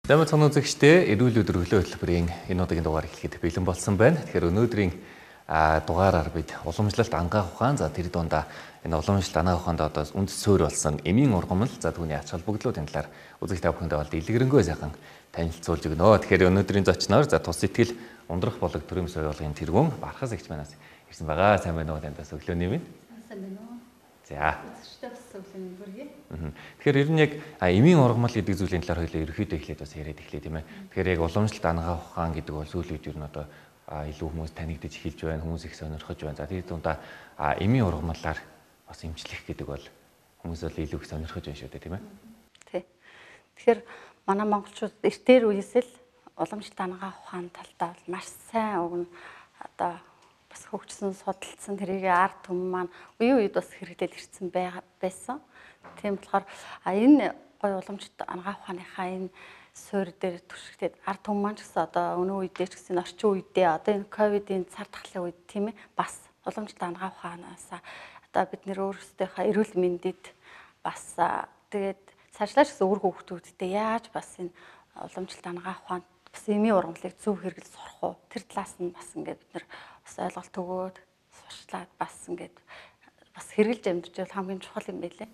Замд цоног үзэгчдээ эрүүл өдөр өглөө хөтөлбөрийн энэ удаагийн дугаар эхлэхэд бэлэн болсон байна. Тэгэхээр өнөөдрийн дугаараар бид уламжлалт ангаах ухаан за тэр дундаа энэ уламжлалт ангаах ухаанд одоо үнд суурь болсон эмийн ургамал за түүний ач холбогдлуудын талаар үзэгч та бүхэндээ бол дэлгэрэнгүй сайхан танилцуулж өгнө. Тэгэхээр өнөөдрийн зочноор за тус сэтгэл ундрах болог төрийн соёлын тэргүүн Бархас эгч манаас ирсэн байгаа. Сайн байна уу танаас өглөөний минь. Сайн байна уу. За. Тэгэхээр ер нь яг эмийн ургамал гэдэг зүйлийн талаар хоёлаа ерөөхдөө эхлээд бас яриад эхлэе тийм ээ. Тэгэхээр яг уламжлалт ангаах ухаан гэдэг бол сүүлийн үед ер нь одоо илүү хүмүүс танигдж эхэлж байна, хүмүүс их сонирхож байна. За тэр дундаа эмийн ургамалаар бас эмчлэх гэдэг бол хүмүүс бол илүү их сонирхож байна шүү дээ тийм ээ. Тий. Тэгэхээр манай монголчууд эртээр үеэс л уламжлалт ангаах ухаан талдаа бол маш сайн өгнө. Одоо хөгжсөн судалсан тэрийг ард түмэн маань үе үед бас хэрэглээд ирсэн байсан. Тийм болохоор энэ гой уламжлалт ангаах ухааныхаа энэ суурь дээр түшигдээд ард түмэн маань ч гэсэн одоо өнөө үедээ ч гэсэн орчин үедээ одоо энэ ковидын цар тахлын үед тийм ээ бас уламжлалт ангаах ухаанаас одоо бид нэр өөрсдийнхөө эрүүл мэндэд бас тэгээд цаашлаач гэсэн үр хөвгтүүдтэй яаж бас энэ уламжлалт ангаах ухаанд бас эмийн ургамлыг зөв хэрэглэж сурах уу тэр талаас нь бас ингээд бид нар бас ойлголт өгөөд сурчлаад бас ингээд бас хэрэгжилж амьдарч бол хамгийн чухал юм байлээ.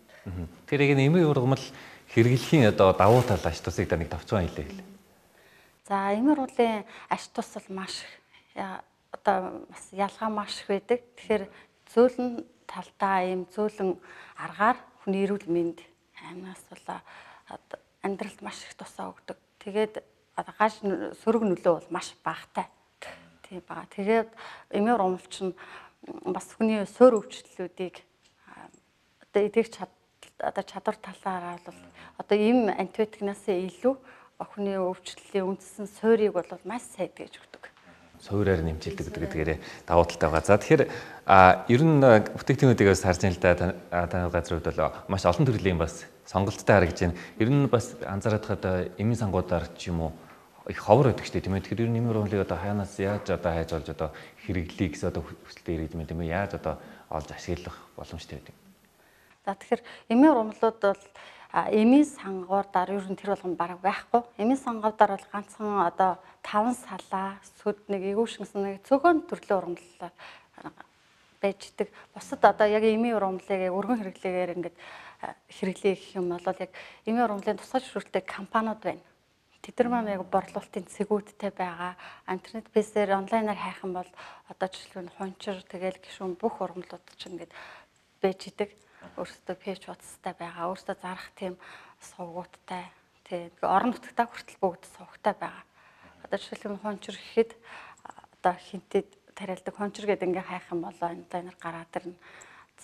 Тэр яг эмийн ургамал хэрэглэхийн одоо давуу тал ач тусыг да нэг товчхон хэлээ хэл. За эмийн ургамлын ач тус бол маш одоо бас ялгаа маш их байдаг. Тэгэхээр зөөлөн талдаа ийм зөөлөн аргаар хүний эрүүл мэнд амнаас бол амьдралд маш их тусаа өгдөг. Тэгээд гаш сөрөг нөлөө бол маш багатай. Тийм бага. Тэгээд эмийн ургамал чинь бас хүний суурь өвчлөлүүдийг одоо эдгэх чадвар талаараа бол одоо эм антибиотикнаас илүү хүний өвчлөлийн үндсэн суурийг бол маш сайн гэж өгдөг. Суурьаар нэмжilдэг гэдгээрээ давуу талтай байгаа. За тэгэхээр ер нь бүтээгдэхүүнүүдээс харж байна л да таны газрууд бол маш олон төрлийн бас сонголттой харагдаж байна. Ер нь бас анзаараад хаад эмийн сангуудаар ч юм уу их ховор байдаг шүү дээ тийм ээ. Тэгэхээр ер нь эмийн ургамлыг одоо хаянаас яаж одоо хайж олж одоо хэрэглэе гэсэн одоо хүсэлтэд ирээд юм тийм ээ. Яаж одоо олж ашиглах боломжтой байдаг. За тэгэхээр эмийн ургамлууд бол эмийн сангуудаар ер нь тэр болгон бараг байхгүй. Эмийн сангуудаар бол ганцхан одоо 5 салаа, сүд нэг эвүүшгэнсэн нэг цөөхөн төрлийн ургамлаар байж идэг. Бусад одоо яг эмийн ургамлыг өргөн хэрэглээгээр ингээд хэрэглэе гэх юм бол яг эмийн ургамлын тусгай зөвшөөрөлтэй компаниуд байна. Тэд нар маань яг борлуулалтын цэгүүдтэй байгаа. Интернет бэсээр онлайнаар хайх юм бол одоо жишээлбэл хунчир тэгэл гişүн бүх ургамлууд ч ингээд байж идэг. Өөрсдөө пэйж утастай байгаа. Өөрсдөө зарах тийм сувгуудтай. Тэгээд орон нутгатаа хүртэл бүгд сувгтай байгаа. Одоо жишээлбэл хунчир гэхэд одоо хинтэд тариалдаг хунчир гэдэг ингээ хайх юм бол онлайнаар гараад ирнэ.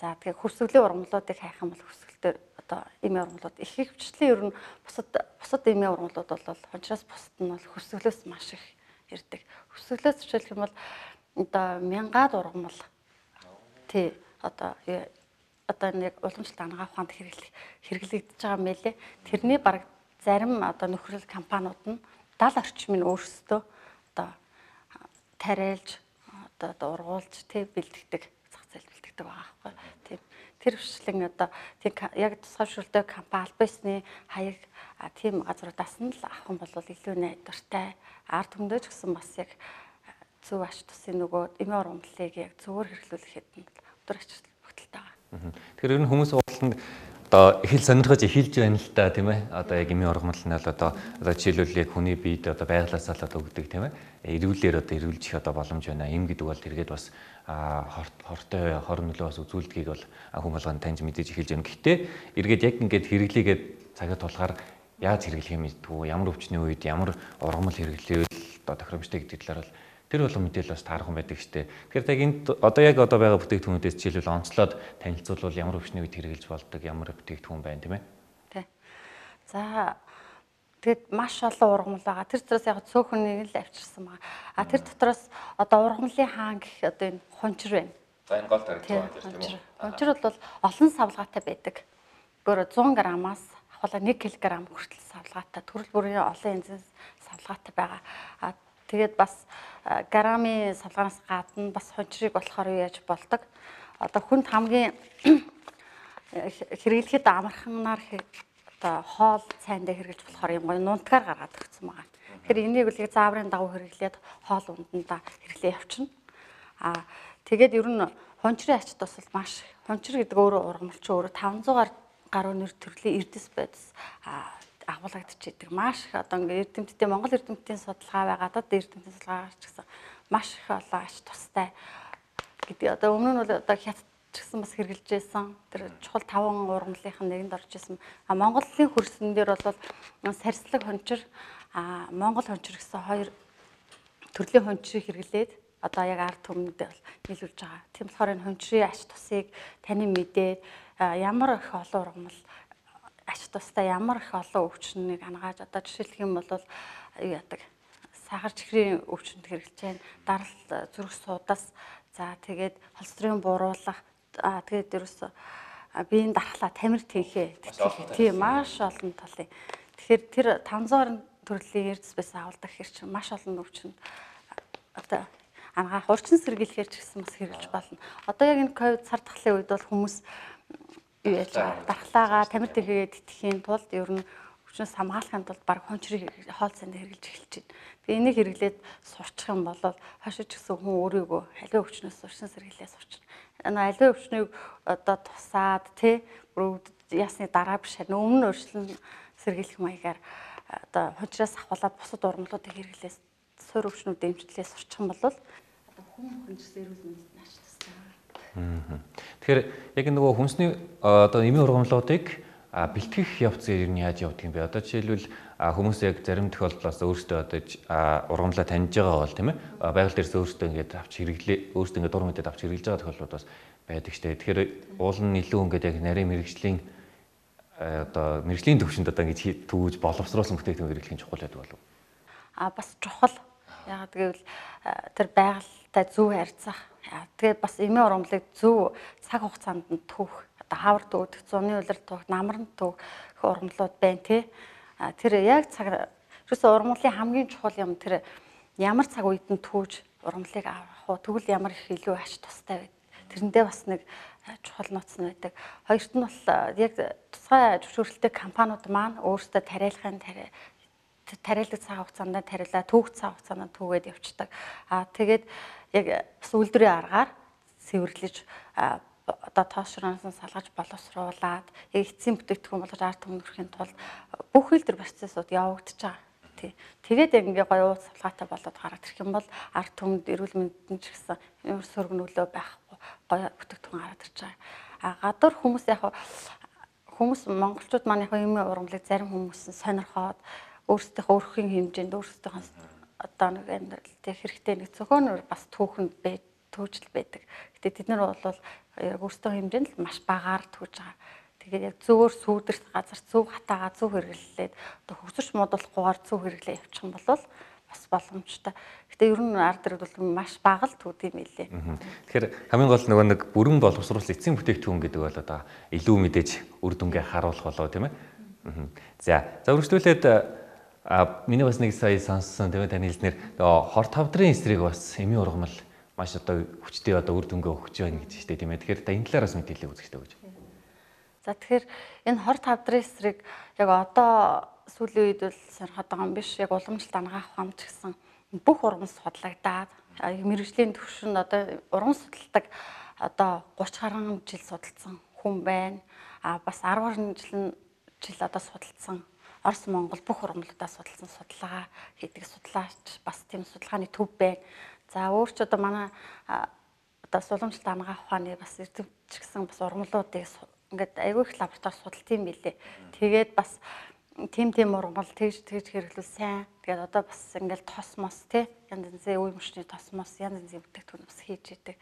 За тэгээ хүсвэлийн ургамлуудыг хайх юм бол хүсвэлээр одоо эмийн ургамлууд их хвчлэн ер нь бусад эмийн ургамлууд бол хунчраас бусад нь бол хүсвэлээс маш их ирдэг. Хүсвэлээс жишээлх юм бол одоо мянгаад ургамал тий одоо нэг уламжлалт ангаах ухаанд хэрэглэгдэж байгаа мэлээ. Тэрний бараг зарим одоо нөхрөл компаниуд нь 70 орчмын өөрсдөө одоо тариалж одоо ургуулж тий бэлтгэдэг зах зээл бэлтгэдэг байгаа байхгүй. Тийм. Тэр хвшлэн одоо тийм яг тусгай зөвшөөрөлтэй компани албасны хаяг тийм газруудаас нь л авах юм бол илүү найдвартай. Ард түмдээ ч гэсэн бас яг зөв ач тусын нөгөө эмийн ургамлыг яг зөвөр хэрэглүүлэхэд нь өдөр ач бүгдэлтэй байгаа. Тэгэхээр ер нь хүмүүс ууланд одоо их л сонирхож эхэлж байна л да тийм ээ. Одоо яг эмийн ургамал нь одоо жишээлбэл яг хүний биед одоо байглаасаа л одоо өгдөг тийм ээ. Эрүүлээр одоо эрүүлжих одоо боломж байна. Эм гэдэг бол тэргээд бас хортой хор нөлөө бас үзүүлдгийг бол хүн болгонд таньж мэдээж эхэлж байна. Гэхдээ эргээд яг ингээд хэрэглээгээд цагаа тулахаар яаж хэрэглэх юм мэдтгүү, ямар өвчний үед ямар ургамал хэрэглэвэл одоо тохиромжтой гэдэг талаар бол тэр болон мэдээлэл бас таархан байдаг штэ. Тэгэхээр яг энд одоо байгаа бүтээгдэхүүнүүдээс жишээлбэл онцлоод танилцуулбал ямар өвчний үед хэрэгжилж болдог, ямар бүтээгдэхүүн байна тийм ээ. Тий. За тэгэд маш олон ургамал байгаа. Тэр дотроос яг цөөхнийг л авчирсан байгаа. Тэр дотроос одоо ургамлын хаан гэх одоо энэ хунчир байна. За энэ гол тарих тийм үү? Хунчир бол олон савлгаатай байдаг. Гөр 100 граммаас ахвала 1 кг хүртэл савлгаатай, төрөл бүрийн олон янзын савлгаатай байгаа. Тэгээд бас граммын савлгаанаас гадна бас хунчрыг болохоор юу яаж болдог. Одоо хүнд хамгийн хэрэглэхэд амарханаар одоо хоол цайндаа хэрэглэж болохоор юм гоё нунтгаар гаргаад өгсөн байгаа. Тэгэхээр энийг үл зааврын дагуу хэрэглээд хоол ундандаа хэрэглээ явчихна. Тэгээд ер нь хончрын ач тус бол маш хончр гэдэг өөрөө ургамалч өөрөө 500 гаруй нэр төрлийн эрдэс байдас агуулгадчихэдэг. Маш их одоо ингээд эрдэмтдийн Монгол эрдэмтдийн судалгаа байгаад одоо эрдэмтдийн судалгаагаар ч гэсэн маш их олон ач тустай гэдэг. Одоо өмнө нь бол одоо хятад ч гэсэн бас хэрэгжилж байсан. Тэр чухал 5 ургамлынх нь нэгэнд орж исэн. Монголын хөрсөн дээр бол сарслаг хончир, Монгол хончир гэсэн хоёр төрлийн хончрыг хэрэглээд одоо яг ард түмэнд нийлүүлж байгаа. Тийм болохоор энэ хончрын ач тусыг таны мэдээд ямар их олон ургамал ач тустай ямар их олон өвчнийг ангаж одоо жишээлх юм бол юу яадаг сахар чихрийн өвчнөд хэрэглэж байна. Дарал зүрх судас, за тэгээд холестерин бууруулах, тэгээд ерөөсө биеийн дархлаа тамир тэнхээ тийм маш олон талын. Тэгэхээр тэр 500 төрлийн эрдэс байсан агуулдаг хэр чинь маш олон өвчнөд одоо ангаах урчин сэргийлэхээр ч гэсэн бас хэрэглэж болно. Одоо яг энэ ковид сар тахлын үед бол хүмүүс юу яаж байгаа дархлаагаа тамир тэнхээгээ тэтгэхийн тулд ер нь өвчнөөс хамгаалахын тулд баг хончрыг хоол цанд хэрэглэж эхэлж байна. Тэгээ энийг хэрэглээд сурчих юм бол хашиж гисэн хүн өөрийгөө аливаа өвчнөөс урчин сэргийлээ сурчна. Аливаа өвчнийг одоо тусаад ясны дараа биш харин өмнө урьдчилан сэргийлэх маягаар одоо хончроос ахуулаад бусад ургамлуудыг хэрэглээс суур өвчнүүд эмчлэлээ сурчих юм бол одоо хүн хончроос эрүүл мэндэд ач тустай. Тэгэхээр яг нөгөө хүнсний одоо эмийн ургамлуудыг бэлтгэх явц ер нь яаж явдаг юм бэ? Одоо жишээлбэл хүмүүс яг зарим тохиолдлоос өөрсдөө одоо ургамлаа таньж байгаа бол тийм ээ байгаль дээрээс өөрсдөө ингээд авч хэрэглээ өөрсдөө ингээд дур мэдээд авч хэрэглэж байгаа тохиолдлууд бас байдаг штэ. Тэгэхээр уул нь илүү ингээд яг нарийн мэрэгжлийн одоо мэрэгжлийн төвшөнд одоо ингэж төвөж боловсруулсан бүтээгдэхүүн хэрэглэх нь чухал байдаг болов уу? Бас чухал. Яг гэвэл тэр байгальтай зөв харьцах. Тэгээд бас эмийн ургамлыг зөв цаг хугацаанд нь түүх. Одоо хавар дүүдэх, зуны улирал түүх, намран түүх ургамлууд байна тий. Тэр яг цаг ерөөсөө ургамлын хамгийн чухал юм тэр ямар цаг үед нь түүж ургамлыг авах уу, тэгвэл ямар их илүү ач тустай байд. Тэрэндээ бас нэг чухал нууц нь байдаг. Хоёрт нь бол яг тусгай зөвшөөрөлтэй компаниуд маань өөрсдөө тариалахын тариалдаг цаг хугацаанд тариалаа, түүх цаг хугацаанд түүгээд явцдаг. Тэгээд яг бас үйлдвэрийн аргаар цэвэрлэж одоо тоошроноос салгаж боловсруулад яг эцсийн бүтээгдэхүүн болгож ард түмэнд хүрэхин тулд бүх үйлдвэр процессууд явагдаж байгаа. Тий. Тэгээд яг ингээ гоё ууц салгаатай болоод гараад ирэх юм бол ард түмэнд эрүүл мэндэд ч гэсэн ямар сөргнөлөө байхгүй гоё бүтээгдэхүүн гараад ирж байгаа. Гадуур хүмүүс яг хүмүүс монголчууд маань яг эмийн ургамлыг зарим хүмүүс сонирхоод өөрсдийнхөө өрхийн хэмжээнд өөрсдийнхөө одоо нэг амьдралтай хэрэгтэй нэг цөөхөнөр бас түүхэнд төвжил байдаг. Гэтэ тэд нар бол яг өөрсдөө хэмжээнд л маш багаар түүж байгаа. Тэгээд яг зөвөр сүүдэрт газар зөв хатаагаа зөв хэрэглээд одоо хөгсөж муудуулахгүйгээр зөв хэрэглээ явуучих юм бол бас боломжтой. Гэтэ ер нь ард иргэд бол маш бага л түүд юм илээ. Тэгэхээр хамгийн гол нөгөө нэг бүрэн боловсруулсан эцсийн бүтээгдэхүүн гэдэг бол одоо илүү мэдээж үр дүнгээ харуулах болоо тийм ээ. За өргөжлүүлээд миний бас нэг сая сонссон тийм ээ таны хэлснээр хор тавдрын эсрэг бас эмийн ургамал маш одоо хүчтэй одоо үр дүнгээ өгч байна гэж штэ тийм ээ. Тэгэхээр энэ талаараас мэдээлэл үзэхтэй гэж. За тэгэхээр энэ хор тавдрын эсрэг яг одоо сүүлийн үед бол сонирхоод байгаа юм биш. Яг уламжлалт ангаах ухаан ч гэсэн бүх ургамал судлагдаад мэрэгжлийн түвшинд одоо ургамал судалдаг одоо 30 гаруй жил судалсан хүн байна. Бас 10 гаруй жил одоо судалсан Орос Монгол бүх ургамлуудаа судалсан судалгаа хийдэг судлаач бас тийм судалгааны төв байна. За өөр ч одоо манай одоо уламжлалт ангаах ухааны бас эрдэмтч гэсэн бас ургамлуудыг ингээд айгүй их лаборатори судалт юм билээ. Тэгээд бас тийм ургамал тэгж хэрэглүүл сайн. Тэгээд одоо бас ингээд тосмос тий янз янзын үе мөчний тосмос янз янзын бүтээгдэхүүн бас хийж идэг.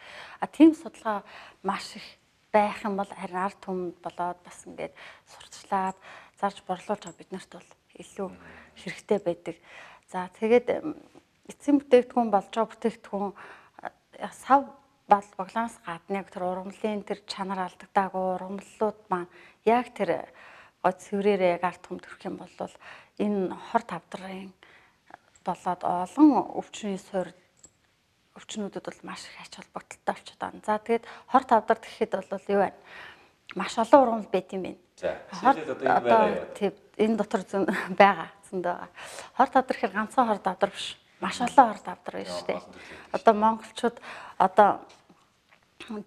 Тийм судалгаа маш их байх юм бол харин ард түмэнд болоод бас ингээд сурталчлаад зарж борлуулж байгаа бид нарт бол илүү хэрэгтэй байдаг. За тэгээд эцсийн бүтээгдэхүүн болж байгаа бүтээгдэхүүн сав боглоноос гадна яг тэр ургамлын тэр чанар алдагдаагүй ургамлууд маань яг тэр гоо цэврээрээ яг ард түмэнд хүрэх юм бол энэ хор тавдрын болоод олон өвчнүүдэд бол маш их ач холбогдолтой болчиход байна. За тэгээд хор тавдар гэхэд бол юу вэ? маш олон ургамал байт юм байна. За. Жишээлбэл одоо энэ байгаа. Тийм энэ дотор зүүн байгаа. Зөндөө байгаа. Хор тавдар гэхээр ганцхан хор тавдар биш. Маш олон хор тавдар байна шүү дээ. Одоо монголчууд одоо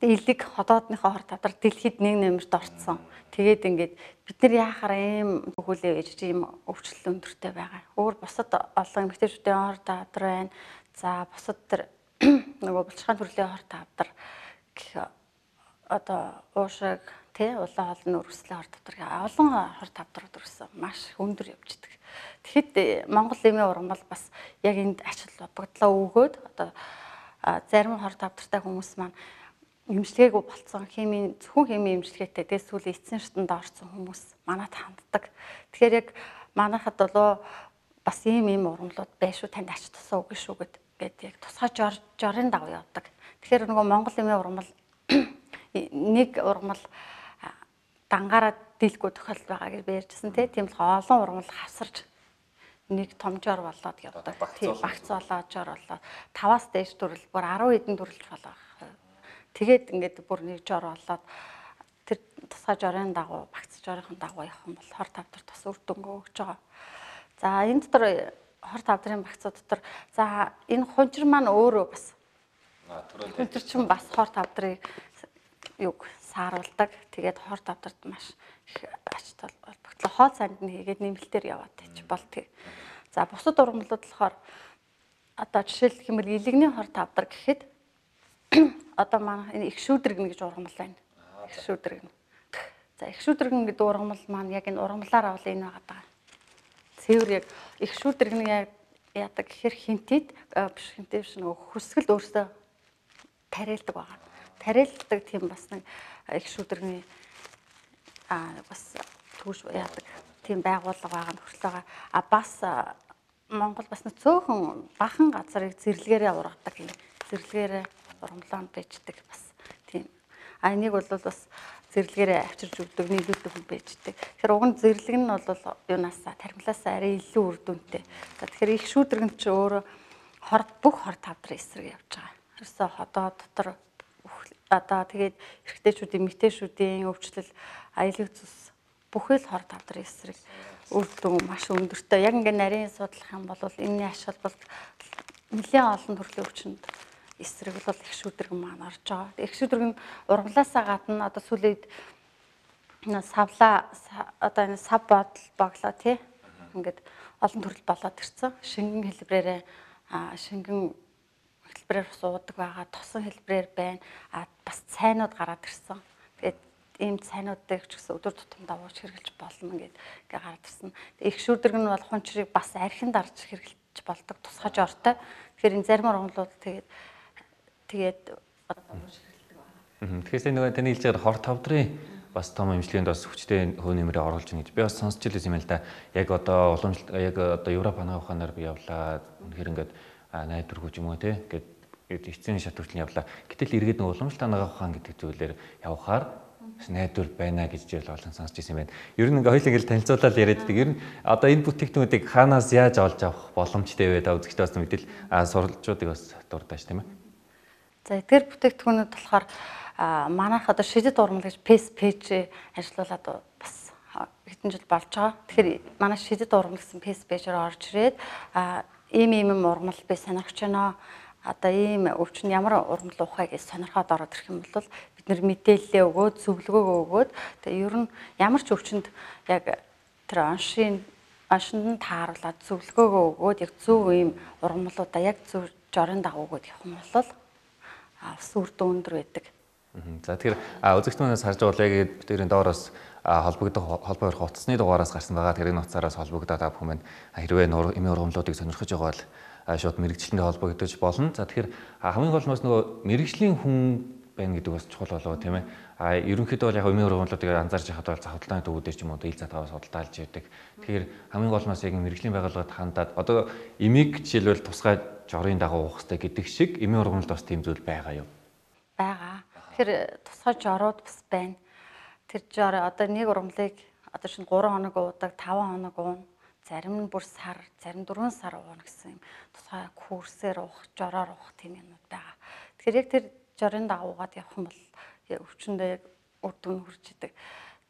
элэг хотоодныхоо хор тавдар дэлхийд нэг нэмэрт орцсон. Тэгээд ингээд бид нар яахаар ийм төгөөлөө ээж ийм өвчлөл өндөртэй байгаа. Өөр бусад олон эмэгтэйчүүдийн хор тавдар байна. За бусад тэр нөгөө булчирхаан төрлийн хор тавдар гэх одоо уушиг тий улаан олон өргөслийн хор тавдар олон хор тавдрууд өргөсөн маш өндөр явждаг. Тэгэхэд Монгол эмийн ургамал бас яг энд ач холбогдлоо өгөөд одоо зарим хор тавдартай хүмүүс маань эмчилгээгүй болцсон зөвхөн химийн эмчилгээтэй дээс сүүлийн эцсийн шатанд орсон хүмүүс манад ханддаг. Тэгэхээр яг манайхад болоо бас ийм ургамлууд байшгүй танд ач тусаа өгнө шүү гэдэг яг тусгай жорын дагуу явдаг. Тэгэхээр нөгөө Монгол эмийн ургамал нэг ургамал дангаараа дийлгүй тохиолдол байгаа гэж ярьжсэн тийм болохоор олон ургамал хавсарч нэг том жор болоод явдаг. Тийм багц болоод жор болоод 5-аас дээш төрөл бүр 10 хэдэн төрөлж болох. Тэгээд ингээд бүр нэг жор болоод тэр тусгай жорын дагуу багц жорын дагуу явах юм бол хор тавдар тус үр дүнгээ өгч байгаа. За энэ дотор хор тавдрын багцууд дотор за энэ хунчир маань өөрөө бас хунчир чинь бас хор тавдрыг юг сааруулдаг. Тэгээд хор тавдарт маш их ач холбогдлоо хоол санд нь хийгээд нэмэлтээр яваад байж болтгийг. За бусад ургамлууд болохоор одоо жишээлх юм бол илэгний хор тавдар гэхэд одоо манай энэ их шүүдрэгнэ гэж ургамал байна. Их шүүдрэгнэ. За их шүүдрэгнэ гэдэг ургамал маань яг энэ ургамлаар авал энэ байгаа. Цэвэр яг их шүүдрэгнэ яадаг гэхээр хинтэд биш хинтэд биш нөгөө хүсгэл өөрсдөө тариалдаг байгаа. Тариалдаг тийм бас нэг их шүүдрэгний бас түүш яадаг тийм байгууллага байгаа нөхцөл байгаа. Бас Монгол бас нэг цөөхөн бахан газрыг зэрлэгээрээ ургадаг юм. Зэрлэгээрээ ургамлаанд байждаг бас тийм. Энийг бол бас зэрлэгээрээ авчирж өгдөг, нийлүүлдэг хүн байждаг. Тэгэхээр уг нь зэрлэг нь бол юунаасаа тархимлаас арай илүү үр дүнтэй. Тэгэхээр их шүүдрэгэн чи өөрөө бүх хор тавдрын эсрэг явж байгаа. Ерөөсөө хотоо дотор одоо тэгээд эрэгтэйчүүдийн эмэгтэйчүүдийн өвчлөл аюулгүй цус бүхэл хор тавдрын эсрэг үр дүн маш өндөртэй. Яг ингээд нарийн судлах юм бол энэний ач холбогдол нэлээд олон төрлийн өвчнөд эсрэг бол их шүүдрэг маань орж байгаа. Их шүүдрэг нь ургамлаасаа гадна одоо сүүлийн савлаа одоо энэ сав боглоо тий ингээд олон төрөл болоод ирсэн. Шингэн хэлбэрээр шингэн хэлбэрээр бас уудаг байгаа, тосон хэлбэрээр байна. Бас цайнууд гараад ирсэн. Тэгээд ийм цайнуудыг ч гэсэн өдөр тутамдаа ууж хэрглэж болно ингээд гараад ирсэн. Их шүүдрэг нь бол хунчрыг бас архинд дарж хэрглэж болдог тусгай жортой. Тэгэхээр энэ зарим ургамлууд тэгээд одоо ууж хэрглэдэг байна. Тэгэхээр нөгөө таны хэлж байгаа хор тавдрын бас том эмчилгээнд бас хүчтэй хөө нэмрээ оруулж байна гэж би бас сонсч илсэн юм л да. Яг одоо уламжлалт яг одоо Европ ханаа ухаанаар би явлаа. Тэгэхээр ингээд найдваргүй ч юм уу те гээд эцсийн шат хүртэл явлаа. Гэтэл эргээд нэг уламжлалт ханаа ухаан гэдэг зүйлээр явхаар найдвар байна гэж жишээл олон сонсч ирсэн юм байна. Ер нь ингээ хоёул ингээл танилцуулаад яриад байдаг. Ер нь одоо энэ бүтээгдэхүүнүүдийг хаанаас яаж олж авах боломжтой вэ? Та үзэгчдээ бас мэдээлэл сурвалжуудыг бас дурдаж тийм ээ. За эдгээр бүтээгдэхүүнүүд болохоор манайх одоо шидэд ургамал гэж пэйж ажиллуулад бас хэдэн жил болж байгаа. Тэгэхээр манай шидэд ургамал гэсэн пэйжээр орж ирээд ийм ургамал би сонирхож байна. Одоо ийм өвчин ямар ургамал ухаа гэж сонирхоод ороод ирэх юм бол бид нэр мэдээлэлээ өгөөд зөвлөгөөгөө өгөөд тэгээ ер нь ямар ч өвчөнд яг тэр оншинд тааруулаад зөвлөгөөгөө өгөөд яг зөв ийм ургамлуудаа яг зөв жорын дагуу өгөөд явах юм бол бас үр дүн өндөр байдаг. За тэгэхээр үзэгчдээс харж байгаа яг бидний доороос холбогдох утасны дугаараас гарсан байгаа. Тэр энэ утсаараас холбогдоод авах хүмүүс хэрвээ эмийн ургамлуудыг сонирхож байгаа бол шууд мэрэгчлэнтэй холбогдож болно. За тэгэхээр хамгийн гол нь бас нөгөө мэрэгжлийн хүн байна гэдэг бас чухал болоо тийм ээ. Ерөнхийдөө бол яг эмийн ургамлуудыг анзаарч байхад бол захидлын төвүүдээр ч юм уу ил затаваас судалдаалж яадаг. Тэгэхээр хамгийн гол нь бас яг мэрэгжлийн байгууллагад хандаад одоо эмийг жишээлбэл тусгай жорын дагуу уух хэрэгтэй гэдэг шиг эмийн ургамлд бас тийм зүйл байгаа юу? Байгаа. Тэгэхээр тусгай жорууд бас байна. Тэр жор одоо нэг ургамлыг одоо шинэ 3 хоног уудаг, 5 хоног уун, зарим нь бүр сар, зарим 4 сар ууна гэсэн юм. Тусгай курсээр уух, жороор уух тийм юмуд байгаа. Тэгэхээр яг тэр жорын дагуугаад явах юм бол өвчнөдөө яг үр дүн хүрч идэг.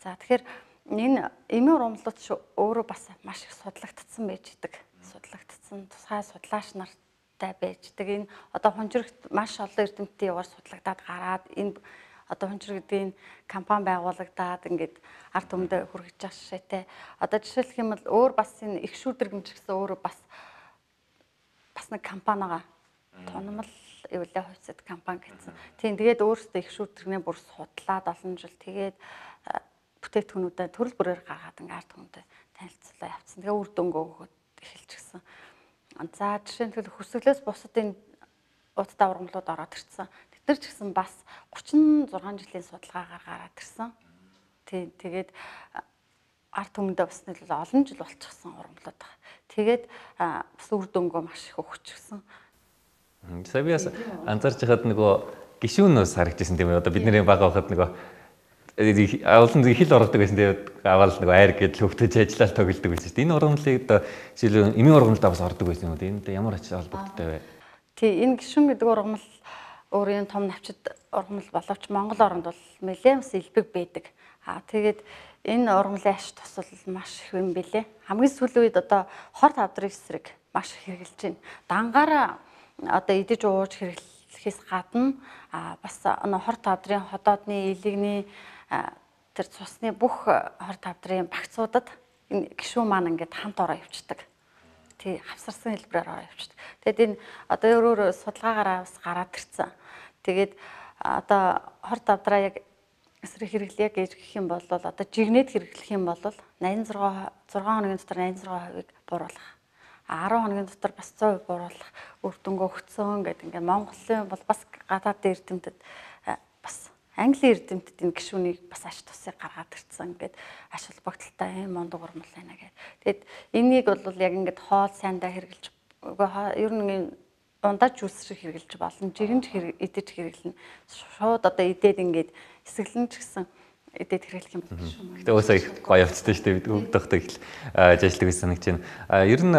За тэгэхээр энэ эмийн ургамлууд өөрөө бас маш их судлагдсан байж идэг. Судлагдсан тусгай судлаач нартай байж идэг. Энэ одоо хунжирагт маш олон эрдэмтдийн яваар судлагдаад гараад энэ одоо хунжир гэдэг энэ компани байгуулагдаад ингээд ард түмэндээ хүргэж байгаа шишээтэй. Одоо жишээлх юм бол өөр бас энэ их шүүдэргэмж гэсэн өөрөө бас нэг компанигаа тунамл эвлээ хувьсад компани гэсэн. Тийм тэгээд өөрөөсөө их шүүдэргнээ бүр судлаад олон жил тэгээд бүтээгдэхүүнүүдэд төрөл бүрээр гаргаад ингээд ард түмэндээ танилцуулаа явуулсан. Тэгээ үр дүнгөө өгөөд эхэлж гисэн. За жишээ нь хөсөглөөс бусад энэ удаа ургамлууд ороод ирсэн. Тэд нар ч гэсэн бас 36 жилийн судалгаагаар гараад ирсэн. Тэгээд ард түмэндээ бас нэлээд олон жил болчихсон ургамлууд байна. Тэгээд бас үр дүнгөө маш их өгчихсэн. Сая би анзаарч байхад нөгөө гишүүнөөс харагдчихсан тийм ээ. Одоо бидний бага байхад нөгөө олон хил ордог байсан. Тэгээд аваад нөгөө айр гэдэл хөвтөж ажиллаад тоглодог байсан шүү дээ. Энэ ургамлыг одоо жишээл эмийн ургамлдаа бас ордог байсан юм уу? Энд ямар ач холбогдолтой вэ? Тий, энэ гишүүн гэдэг ургамал өөрийн том навчид ургамал боловч Монгол оронд бол нэлээд бас илбэг байдаг. Тэгээд энэ ургамлын аш тусал маш их юм бэлээ. Хамгийн сүүлийн үед одоо хор тавдрын эсрэг маш их хэрэгжилж байна. Дангаараа одоо идэж ууж хэрэглэхээс гадна бас хор тавдрын ходоодны илэгний тэр цусны бүх хор тавдрын багцуудад энэ гишүүн маань ингээд хамт ороо явчихдаг. Тий, хавсарсан хэлбэрээр ороо явчихдаг. Тэгэд энэ одоо өөрөөр судалгаагаараа бас гараад ирсэн. Тэгээд одоо хор тавдраа яг эсрэг хэрэглэе гэж гэх юм бол одоо жигнэд хэрэглэх юм бол 86 хоногийн дотор 86%-ыг бууруулах. 10 хоногийн дотор бас 100% бууруулах үр дүнгөө өгцөн гэдэг ингээд Монголын бол бас гадаад эрдэмтэд бас Английн эрдэмтэд энэ гишүүнийг бас аш тусыг гаргаад ирсэн. Ингээд аш холбогдолтой юм мундаг урмал байна гэдэг. Тэгэд энийг бол яг ингээд хоол сайндаа хэрэглэж ер нь ундаж жүс шиг хэрэглэж болно. Жирэмж идэж хэрэглэнэ. Шууд одоо идээд ингээд эсгэлэн ч гэсэн идээд хэрэглэх юм байна шүү. Гэтэ өөсөө их гоё явцтай шүү дээ. Бид хөвдөхтэй их ажилладаг гэсэн санагч байна. Ер нь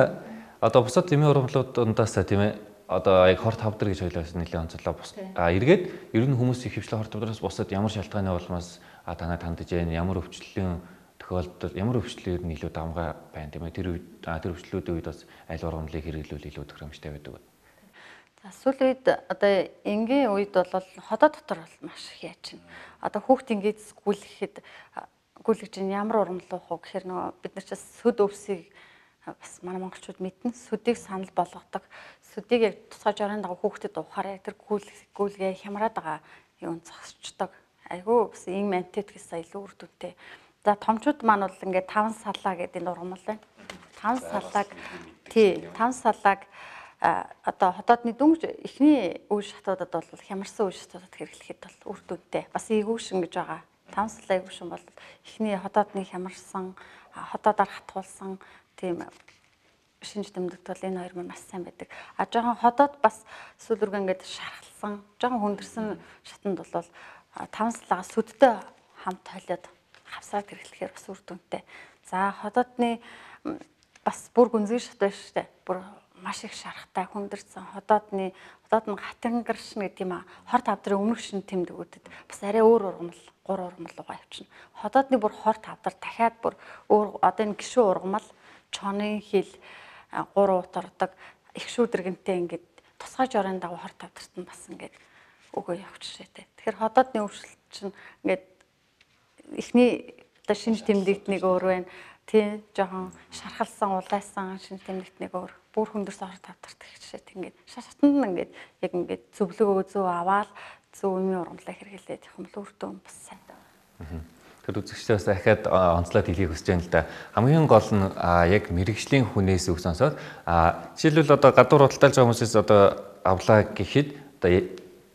одоо бусад эмийн ургамлууд дундаас тийм ээ одоо яг хор тавдар гэж ойлоос нэлээд онцлоо. Эргээд ер нь хүмүүс их хвчлээ хор тавдараас бусад ямар шалтгааны улмаас танаа тандж байна, ямар өвчлөлийн тохиолдолд ямар өвчлөөр нь илүү давмгай байна тийм ээ. Тэр өвчлөлүүдийн үед бас аль ургамлыг хэрэглүүл илүү тохиромжтой байдаг. За сүүлийн үед одоо энгийн үед бол ходоо дотор бол маш их яаж байна. Одоо хүүхд ингээд гүйлгэж ямар ургамл уух вэ гэхээр нөгөө бид нар ч сүд өвсийг бас манай монголчууд мэднэ. Сүдийг санал болгодог. Сүдийг яг тусгай жорын дагуу хүүхдэд уухаараа тэр гүйлгээ хямраад байгаа юм зогсчдаг. Айгүй бас ийм антит гэсэн илүү үр дүнтэй. За томчууд маань бол ингээд 5 салаа гэдэг энэ ургамал байна. 5 салааг одоо хотоодны дүнж эхний үе шатуудад бол хямарсан үе шатуудад хэрэглэхэд бол үр дүнтэй. Бас ээгүүшин гэж байгаа. 5 салаа ээгүүшин бол эхний хотоодны хямарсан, хотоодоор хатгуулсан тийм шинж тэмдэгт бол энэ хоёр маань маш сайн байдаг. Жоохон ходоод бас сүүлрэг ингээд шархалсан, жоохон хүндэрсэн шатанд бол 5 салаа сүдтэй хамт холиод хавсаад хэрэглэхээр бас үр дүнтэй. За ходоодны бас бүр гүнзгий шат байна шүү дээ. Бүр маш их шарахтай хүндэрсэн ходоод нь хатангаршна гэдэг юм а. Хор тавдрын өмнөх шин тэмдгүүдэд бас арай өөр ургамал, 3 ургамал руугаа явчихна. Ходоодны бүр хор тавдар дахиад бүр өөр одоо энэ гишүүн ургамал чоны хил 3 утардаг их шүүдэргэнтэй ингээд тусгай жорын дагуу хор тавдарт нь бас ингээд өгөө явчихжээ. Тэгэхээр ходоодны өвчлөлт чинь ингээд эхний одоо шинж тэмдэгт нэг өөр байна. Тий, жоохон шархалсан, улайсан шинж тэмдэгт нэг өөр. Бүр хүндэрсэн хор тавдарт гэжээ. Ингээд шатанд нь ингээд яг ингээд зөвлөгөө зөв аваад зөв юмны ургамлаа хэрэглээд их юм л үр дүн бас сайн байна. Тэр үзэгчдээс дахиад онцлоод хэлхийг хүсэж байна л да. Хамгийн гол нь яг мэрэгжлийн хүнээс үг сонсоод жишээлбэл одоо гадуур худалдаалж байгаа хүмүүсээс одоо авлаа гэхэд одоо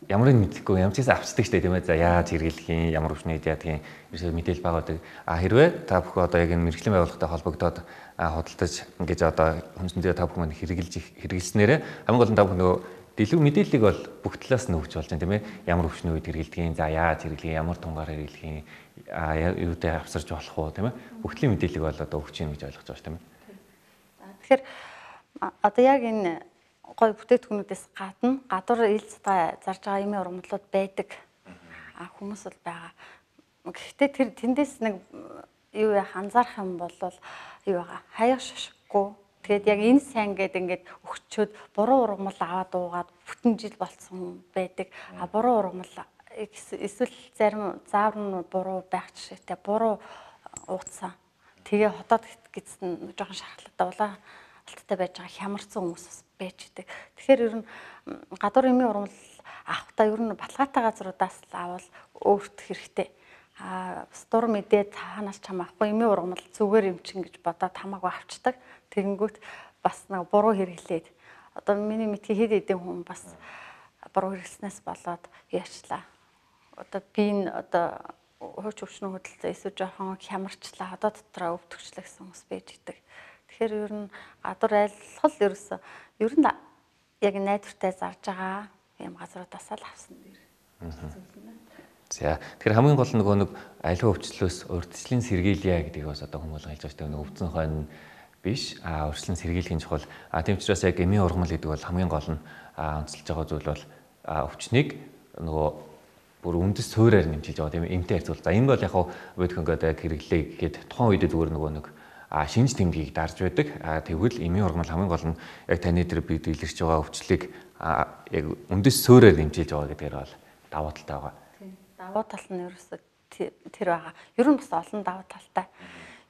ямар нэг мэдэхгүй ямар ч гэсэн авчдаг штэ тийм ээ. За яаж хэрэглэх юм, ямар өвчнөд яадгийн ерөөсөө мэдээлэл байгаа. Хэрвээ та бүхэн одоо яг энэ мэрэгжлийн байгууллагатай холбогдоод худалдаж ингэж одоо хүнсэндээ та бүхэн хэрэглэснээрээ хамгийн гол нь та бүхэн нөгөө дэлгэв мэдээллийг бол бүх талаас нь өгч болж байна тийм ээ. Ямар өвчнөд үед хэрэглэдэг, за яаж хэрэглэх, ямар тунгаар хэрэглэх, юутай авсарч болох уу тийм ээ. Бүх талын мэдээллийг бол одоо өгч юм гэж ойлгож байгаа шүү тийм ээ. Тэгэхээр одоо яг энэ гой бүтээгдэхүүнүүдээс гадна гадуур ил цэцгээ зарж байгаа эмийн ургамлууд байдаг. Хүмүүс бол байгаа. Гэхдээ тэр тэндээс нэг юу яах анзаарах юм бол юу байгаа хаяг шошиггүй. Тэгээд яг энэ сайн гэдэг ингээд өгчөөд буруу ургамал аваад уугаад бүтэн жил болцсон байдаг. Буруу ургамал эсвэл зарим заавар нь буруу байх жишээтэй буруу ууцсан. Тэгээ хотоод гидсэн жоохон шархалтай улаалттай байж байгаа хямарсан хүмүүс бас байж идэг. Тэгэхээр ер нь гадуур эмийн ургамал авахтаа ер нь баталгаатай газруудаас л авал өөрт хэрэгтэй. Дур мэдээ цаанаас чам авахгүй эмийн ургамал зүгээр эмчин гэж бодоод хамаагүй авчдаг. Тэгэнгүүт бас нэг буруу хэрэглээд одоо миний мэдхий хэд хэдэн хүн бас буруу хэрэглэснээс болоод яачлаа. Одоо би энэ одоо хууч өвчнөө хөдөлсөн эсвэл жоохон хямарчлаа. Одоо дотроо өвдөгчлээ гэсэн хүмүүс байж идэг. Тэгэхээр ер нь гадуур айлхал ерөөсөө ер нь яг найдвартай зарж байгаа юм газруудаас л авсан дэр. За тэгэхээр хамгийн гол нэг аливаа өвчлөөс урьдчилан сэргийлье гэдгийг бас одоо хүмүүс хэлж байгаа шүү дээ. Өвдсөн хойно биш урьдчилан сэргийлэхийн чухал. Тийм учраас яг эмийн ургамал гэдэг бол хамгийн гол нь онцлж байгаа зүйл бол өвчнийг нөгөө бүр үндэс суурьаар нэмжиж байгаа тийм эмтэй харьцуул. За энэ бол яг бодох ингээд хэрэглээ гэхэд тухайн үед зүгээр нөгөө нэг шинж тэмдгийг дарж байдаг. Тэгвэл эмийн ургамал хамгийн гол нь яг таны дээр бид илэрч байгаа өвчлийг яг үндэс суурьаар нэмжиж байгаа гэдгээр бол давуу талтай байгаа. Давуу тал нь ерөөсөө тэр байгаа. Ер нь бас олон давуу талтай.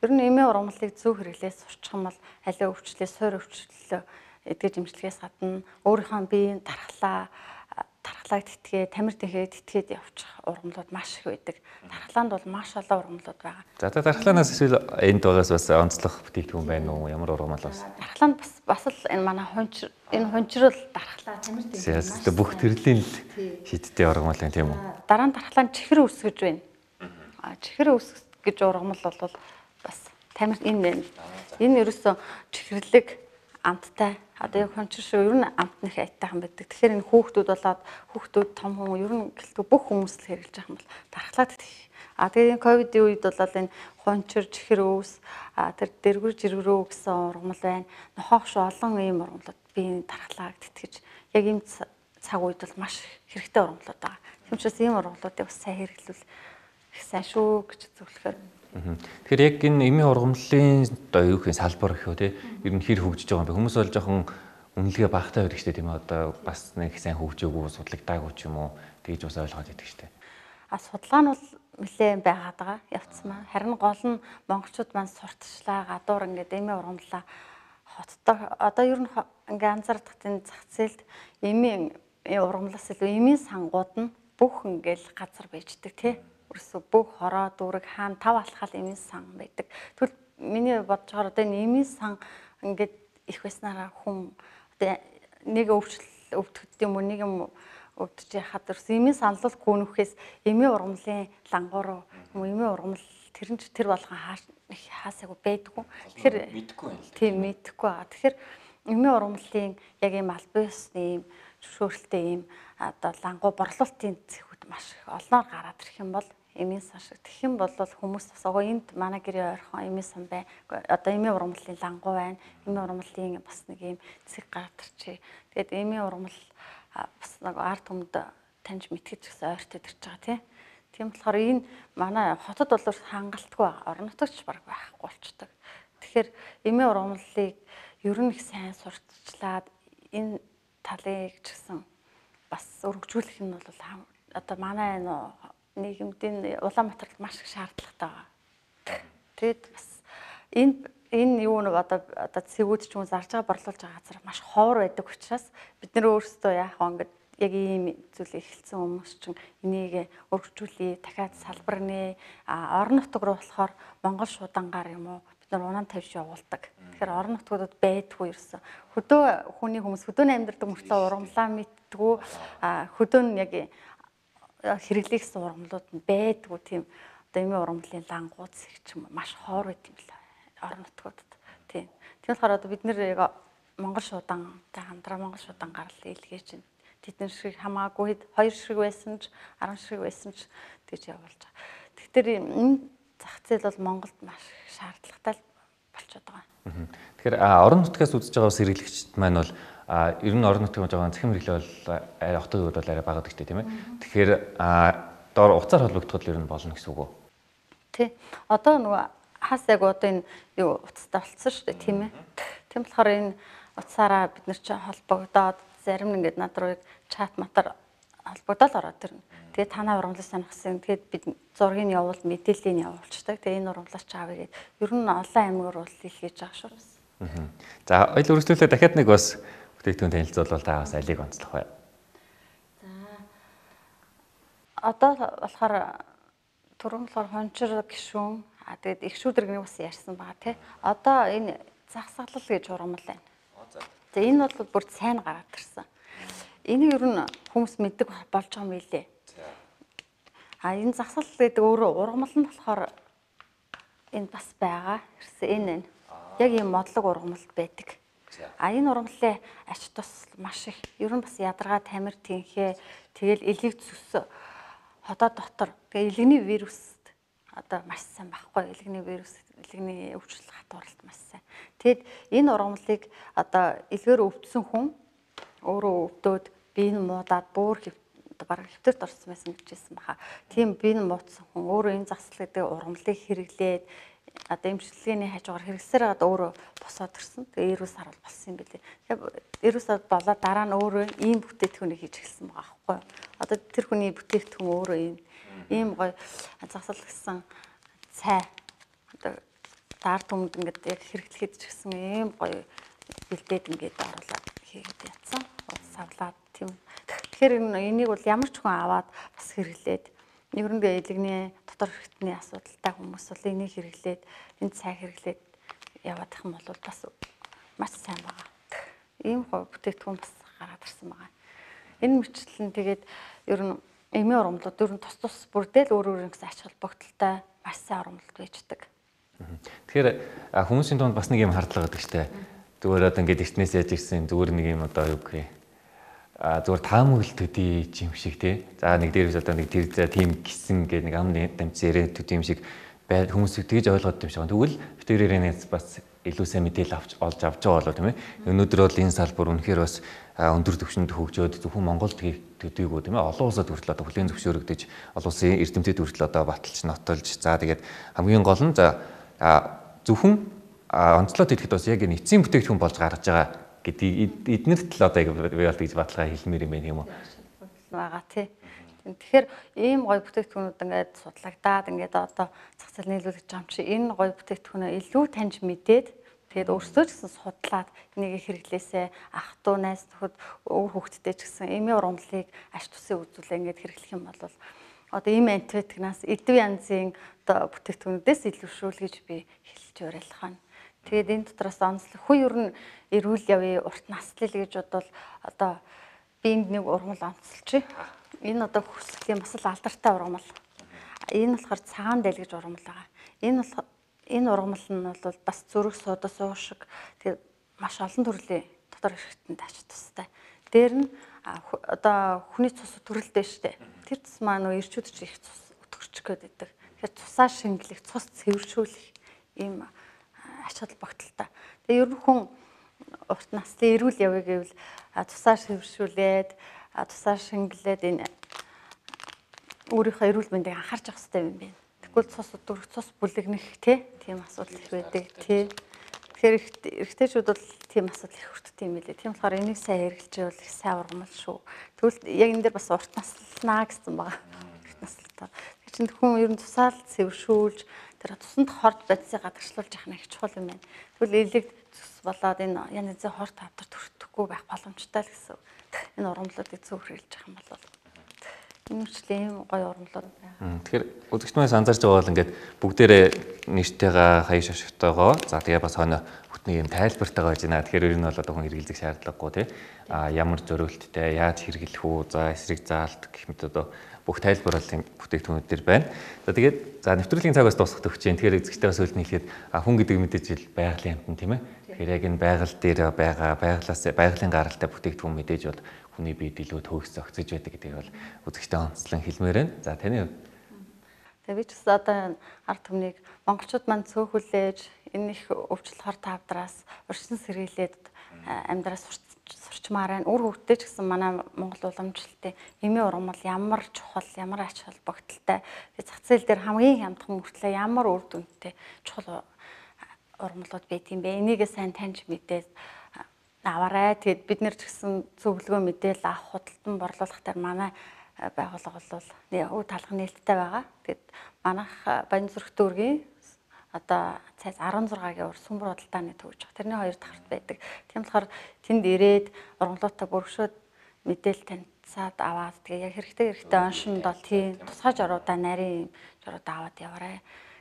Ер нь эмийн ургамлыг зөв хэрэглээс сурчих юм бол аливаа өвчлөө, суур өвчлөлөө эдгэж имчилгээс гадна өөрийнхөө биеийн дархлааг тэтгээ, тамир тэнхээ тэтгээд явуучих ургамлууд маш их байдаг. Дархлаанд бол маш олон ургамлууд байгаа. За дархлаанаас эсвэл энд байгаас бас онцлох бүтээгдэхүүн байна уу? Ямар ургамал бас? Дархлаанд бас л энэ манай хончрол дархлаа тамир тэнхээ. Бүх төрлийн шидтэй ургамал байна тийм үү? Дараа нь дархлаанд чихэр өсгөж байна. Чихэр өсгөж гэж ургамал бол бас тамир энэ байна. Энэ ерөөсөө чихэрлэг амттай. Одоо яг хончир шиг ер нь амт нэх айтайхан байдаг. Тэгэхээр энэ хүүхдүүд том хүн ер нь гэлтгүй бүх хүмүүс л хэрэглэж байгаа юм бол дархлаад идэх. Тэгээд ковидын үед бол энэ хончир, чихэр өвс, тэр дэргүр жиргэрөө гэсэн ургамал байна. Нохоогш олон ийм ургамлууд биеийн дархлааг тэтгэж яг ийм цаг үед бол маш хэрэгтэй ургамлууд байгаа. Тийм учраас ийм ургамлуудыг бас сайн хэрэглүүл их сайн шүү гэж зөвлөхөөр. Тэгэхээр яг энэ эмийн ургамлын одоо юу гэх юм салбар гэх үү те ер нь хэр хөгжиж байгаа юм бэ? Хүмүүс бол жоохон үнэлгээ багтаа байдаг шүү дээ тийм ээ. Одоо бас нэг сайн хөгжөөгүй судлагдаагүй ч юм уу тэгж бас ойлгоод байдаг шүү дээ. Судалгаа нь бол нэлээд байгаад байгаа явцмаа. Харин гол нь монголчууд маань сурталчлаа гадуур ингээд эмийн ургамлаа хоттой одоо ер нь ингээд анзаардаг тийм зах зээлд эмийн ургамлаас илүү эмийн сангууд нь бүх ингээд газар байждаг тий. Өөрсө бүх хороо дүүрэг хаана тав алхал эмийн сан байдаг. Тэгвэл миний бодож байгаа одоо энэ эмийн сан ингээд их байснараа хүн одоо нэг өвдөхөд юм уу нэг юм өвдөж яхад ерөөс эмийн санал гүнөхээс эмийн ургамлын лангуу юм уу эмийн ургамал тэр болгон хаасаагүй байдгүй. Тэгэхээр мэдэхгүй байна л. Тийм мэдэхгүй байгаа. Тэгэхээр эмийн ургамлын яг ийм албаасны ийм зөвшөөрөлтэй ийм одоо лангуу борлуулалтын зэхүүд маш их олноор гараад ирэх юм бол эмийн сан шиг тэгэх юм бол хүмүүс бас энд манай гэрээ ойрхон эмийн сан бай. Одоо эмийн ургамлын лангуу байна. Эмийн ургамлын бас нэг ийм зэг гараад ирчээ. Тэгээд эмийн ургамал бас нэг ард түмэд таньж мэдгэж гэсэн ойртоод ирж байгаа тий. Тийм болохоор энэ манай хотод бол хангалтгүй байгаа. Орон нутагч баг байхгүй болчдөг. Тэгэхээр эмийн ургамлыг ер нь их сайн сурталчлаад энэ талыг ч гэсэн бас өргөжүүлэх нь бол одоо манай нийгэмдийн Улаанбаатарт маш их шаардлагатай байгаа. Тэгэд бас энэ юу нэг одоо цэгүүд ч юм уу зарж байгаа борлуулж байгаа газар маш ховор байдаг учраас бид нэр өөрсдөө яах вэ ингээд яг ийм зүйлийг эхэлсэн хүмүүс чинь энийг өргөжүүлээ дахиад салбар нэ орон нутаг руу болохоор Монгол шуудангаар юм уу бид нар унаан тавьж явуулдаг. Тэгэхээр орон нутгуудад байдгүй ерөөсөн. Хөдөө хүний хүмүүс хөдөөний амьдардаг мөртлөө ургамлаа мэдтгүү хөдөө нь яг хэрэглэхсэн ургамлууд нь байдгүй тийм одоо эмийн ургамлын лангууц их ч юм маш хоор байт юм л орон нутгуудад тийм. Тийм болохоор одоо бид нэр яг Монгол шуудантай хамтраа Монгол шуудан гарал илгээж байна. Тэдний шиг хамаагүй 2 ширхэг байсан ч 10 ширхэг байсан ч тэгж явуулж байгаа. Тэгэхээр энэ зах зээл бол Монголд маш шаардлагатай болчиход байгаа. Тэгэхээр орон нутгаас үзэж байгаа сэргийлэгчд маань бол ер нь орон нутгийн байгаа захим хэрэглээ бол хотын үед бол арай бага гэдэгтэй тийм ээ. Тэгэхээр доор уцаар холбогдоход л ер нь болно гэсэн үг үү? Тий. Одоо нөгөө хас яг одоо энэ юу утастай болцсон шүү дээ тийм ээ. Тийм болохоор энэ утсаараа бид нар чи холбогдоод зарим нь ингээд над руу чат матар холбогдоод ороод ирнэ. Тэгээд танаа ургамлыг сонирхсан. Тэгээд бид зургийг явуул мэдээллийг явуулчихдаг. Тэгээд энэ ургамлаач аавь гээд ер нь олон аймгаар бол хийлгэж байгаа шүү. За ойл үргэлжлүүлээ дахиад нэг бас бүтээгдэхүүн танилцуулбал та бас алийг онцлох бай. За одоо болохоор түрүүн болохоор хончир гişүүн тэгээд их шүүдэргний бас ярьсан байгаа тий. Одоо энэ загсаглал гэж ургамал байна. За энэ бол бүр сайн гараад ирсэн. Энийг ер нь хүмүүс мэддэг болж байгаа юм билээ. Энэ загсаглал гэдэг өөрөө ургамал нь болохоор энэ бас байгаа. Энэ яг ийм модлог ургамал байдаг. Энэ ургамлын ач тус маш их. Ер нь бас ядаргаа тамир тэнхээ тэгэл элийг зүс хотоо дотор тэгээ элэгний вируст одоо маш сайн байхгүй. Элэгний вирус, элэгний өвчлөл хатууралт маш сайн. Тэгэд энэ ургамлыг одоо элгээр өвдсөн хүн өөрөө өвдөөд бие нь муудаад бүр бараг хэвтэрт орсон байсан гэж хэлсэн баха. Тийм бие нь муудсан хүн өөрөө энэ загсал гэдэг ургамлыг хэрэглээд одоо эмчилгээний хажуугаар хэрэгсээр одоо өөрөө босоод ирсэн. Тэгээ эрүүл сар бол болсон юм билээ. Тэгээ эрүүл сар болоод дараа нь өөрөө ийм бүтээгдэхүүнийг хийж эхэлсэн байгаа байхгүй юу? Одоо тэр хүний бүтээгдэхүүн өөрөө ийм гоё загсал гэсэн цай одоо даар түмэнд ингээд яг хэрэглэхэд ч гэсэн ийм гоё бэлдээд ингээд оруулаад хийгээд ятсан. Савлаад тийм. Тэгэхээр энийг бол ямар ч хүн аваад бас хэрэглээд нэгрэндээ элэгний дотор хэрэгтний асуудалтай хүмүүс бол энийг хэрэглээд энэ цай хэрэглээд яваад их юм бол бас маш сайн байгаа. Ийм гоё бүтээгдэхүүн бас гараад ирсэн байгаа. Энэ мөрчлөл нь тэгээд ер нь эмийн ургамлууд ер нь тус бүрдэл өөр гэсэн ач холбогдолтой маш сайн ургамлууд байждаг. Тэгэхээр хүмүүсийн дунд бас нэг юм хардлага гэдэг чтэй. Зүгээр одоо ингээд эртнээс яаж ирсэн зүгээр нэг юм одоо юу гэх юм зүгээр таамаглал төдий юм шиг тий. За нэг дээрээс одоо нэг тэр тийм гисэн гэдэг нэг ам дамж яриад төдий юм шиг хүмүүс тэгж ойлгоод юм шиг. Тэгвэл битэрээрээс бас илүү сайн мэдээлэл олж авч байгаа болоо тийм ээ. Өнөөдөр бол энэ салбар үнэхээр бас өндөр түвшинд хөгжөөд зөвхөн Монголд төдийгүй тийм ээ. Олон улсад хүртэл одоо хүлээн зөвшөөрөгдөж олон улсын эрдэмтэд хүртэл одоо баталж нотолж за тэгээд хамгийн гол нь за зөвхөн онцлоод хэлэхэд бас яг энэ эцсийн бүтээгдэхүүн болж гарч байгаа гэдэг эднэрт л одоо яг яалт гэж баталгаа хэлмээр юм байна юм уу? Байгаа тий. Тэгэхээр ийм гоё бүтээгдэхүүнүүд ингээд судлагдаад ингээд одоо зах зээл нийлүүлэх юм чи энэ гоё бүтээгдэхүүнээ илүү таньж мэдээд тэгээд өөрсдөө ч гэсэн судлаад энийг хэрэглээсээ ах トゥ найз нөхөд өөр хүүхдтэй ч гэсэн эмийн ургамлыг аш тусын үзүүлээ ингээд хэрэглэх юм бол одоо ийм антибиотикнаас эдв янзын одоо бүтээгдэхүүнүүдээс илүүшүүл гэж би хэлж уриалах нь. Тэгээд энэ дотроос онцлог хүн ер нь эрүүл явъя урт наслал гэж бодвол одоо би нэг ургамал онцолчих. Энэ одоо хүслийн бас л алдартай ургамал. Энэ болохоор цагаан дээл гэж ургамал байгаа. Энэ ургамал нь бол бас зүрх суудас уушиг тэгээд маш олон төрлийн дотор хэрэгтэнд ач тустай. Дээр нь одоо хүний цус төрөлдөө штэ. Тэр цус маань нөө ирчүүд ч их цус өтгөрчих гээд байдаг. Тэгэхээр цусаа шингэлэх, цус цэвэршүүлэх ийм ач холбогдолтой. Тэгээ ер нь хүн урт наслын эрүүл явъя гэвэл цусаа цэвэршүүлээд, цусаа шингэлээд энэ өөрийнхөө эрүүл мэндийг анхаарч явах хэрэгтэй юм байна. Тэгвэл цус өтгөрөх, цус бүлэгнэх тийм асуудал их байдаг тий. Тэгэхээр эрэгтэйчүүд бол тийм асуудал их хүртдэг юм билээ. Тийм болохоор энийг сайн хэрэгжилж байвал их сайн ургамал шүү. Тэгвэл яг энэ дээр бас урт наслнаа гэсэн байгаа. Урт наслтаа. Тэр чинь хүн ер нь цусаал цэвэршүүлж тэр тусанд хорт бодисыг гадагшлуулж явах нь их чухал юм байна. Тэгвэл элэг зүс болоод энэ янз янзын хорт тавтар төрөхгүй байх боломжтой л гэсэн. Энэ ургамлуудыг зөв хэрэгжилж явах юм бол энэ мөрчлийн гоё ургамлууд байна. Тэгэхээр үзэгчдээс анзаарч байгаа бол ингээд бүгдээрээ нэртэйгээ хаяа шашигтойгоо за тэгээ бас хойно бүтний юм тайлбартайгаа байж байна. Тэгэхээр ер нь бол одоо хүн хэрэглэх шаардлагагүй тий. Ямар зориулттай яаж хэрэглэх үү? За эсрэг заалт гэх мэт одоо бүх тайлбарлалын бүтээгдэхүүнүүд төр байна. За тэгээд за нэвтрүүлгийн цагаас дуусгах төгсөж जैन. Тэгэхээр эзэгчтэй бас үлдэн хэлэхэд хүн гэдэг мэдээж ил байгалийн амтан тийм ээ. Тэгэхээр яг энэ байгаль дээр байгаа байгалийн гаралтай бүтээгдэхүүн мэдээж бол хүний биед илүү төгс зохицож байдаг гэдгийг бол үзэгчтэй онцлон хэлмээр байна. За таны хувьд тэгээ би ч гэсэн одоо ард түмнийг монголчууд маань цөөхүлээж энэ их өвчлөл хор тавдраас урьдчилан сэргийлээд амьдраас сурч хөгжмаар байна. Үр хөвгтөд ч гэсэн манай Монгол уламжлалтын эмийн ургамал ямар чухал, ямар ач холбогдолтой. Тэгээ зах зээл дээр хамгийн хямдхан мөртлөө ямар үр дүнтэй чухал ургамлууд байт юм бэ? Энийгээ сайн таньж мэдээд аваарай. Тэгээд бид нэр ч гэсэн зөвлөгөө мэдээлэл авах худалдан борлуулах дээр манай байгууллага бол өв талах нээлттэй байгаа. Тэгээд манайх Баянзүрх дүүргийн одоо цайз 16-гийн уур сүмбэр худалдааны төвж байгаа. Тэрний хоёр давхарт байдаг. Тийм болохоор тэнд ирээд ургамлуудаа бүргшөөд мэдээлэл танилцаад аваад тэгээ яг хэрэгтэй оншинд бол тийм тусгай жоруудаа нарийн жоруудаа аваад яваарай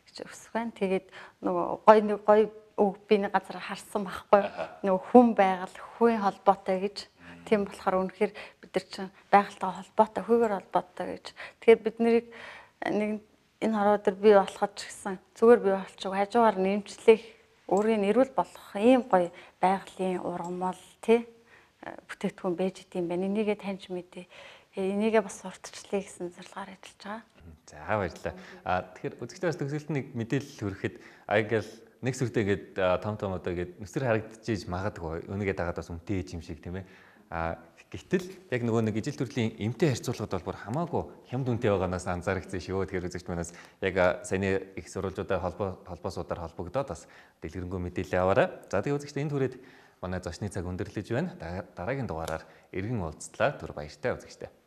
гэж өсөх байна. Тэгээд нөгөө гоё үг биний газар харсан байхгүй нөгөө хүн байгаль хүйн холбоотой гэж. Тийм болохоор үнэхээр бид нар чинь байгальтай холбоотой, хүүгээр холбоотой гэж. Тэгэхээр бид нарыг нэг энэ хороо дээр бий болоход ч гэсэн зүгээр бий болчих хажуугаар нэмчлэх өөрийн нэрвэл болох ийм гоё байгалийн ургамал тий бүтээгдэхүүн байж идэм байна. Энийгээ таньж мэдээ. Энийгээ бас сурталчлая гэсэн зорилгоор ажиллаж байгаа. За баярлалаа. Тэгэхээр үзэгчдээс төгсөлт нэг мэдээлэл хүрэхэд аягаал нэг сүртэй гээд том одоо гээд нүсэр харагдчихж магадгүй өнөгээ дагаад бас үнтэй юм шиг тийм ээ. Гэтэл яг нөгөө нэг ижил төрлийн эмтэй харьцуулахад бол бүр хамаагүй хямд үнэтэй байгаанаас анзаарчихсан шүү. Тэгэхээр үзэгч манаас яг саяны их сурвалжуудаар холбоосуудаар холбогдоод бас дэлгэрэнгүй мэдээлэл аваарай. За тэгээ үзэгчдээ энэ түрээд манай зочны цаг өндөрлөж байна. Дараагийн дугаараар эргэн уулзтлаа. Түр баяртай үзэгчдээ.